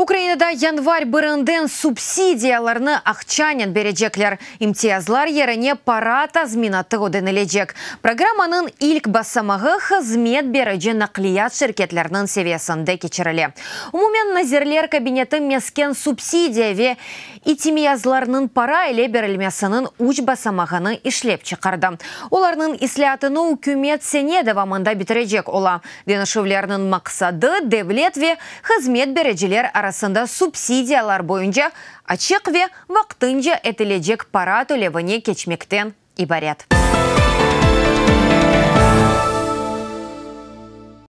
Ukrainada yanvar birinden subsidiyalarnı aqçanen berecekler. İmtiyazlar yerine para tazminatı ödenilecek. Programmanıñ ilk basamağı hızmet berici naqliyat şirketleriniñ seviyesinde keçirile. Umumen Nazirler Kabineti mesken subsidiya ve İtimiyazlarnıñ para ile berilmesiniñ üç basamağını işlep çıqardı. Olarnıñ islâatını ükümet sene devamında bitirecek ola. Deñişüvlerniñ maqsadı, devlet ve hızmet bericiler arasında subsidiyalar boyunca açıq ve vaqtınca etilecek para tölevine keçmekten ibaret.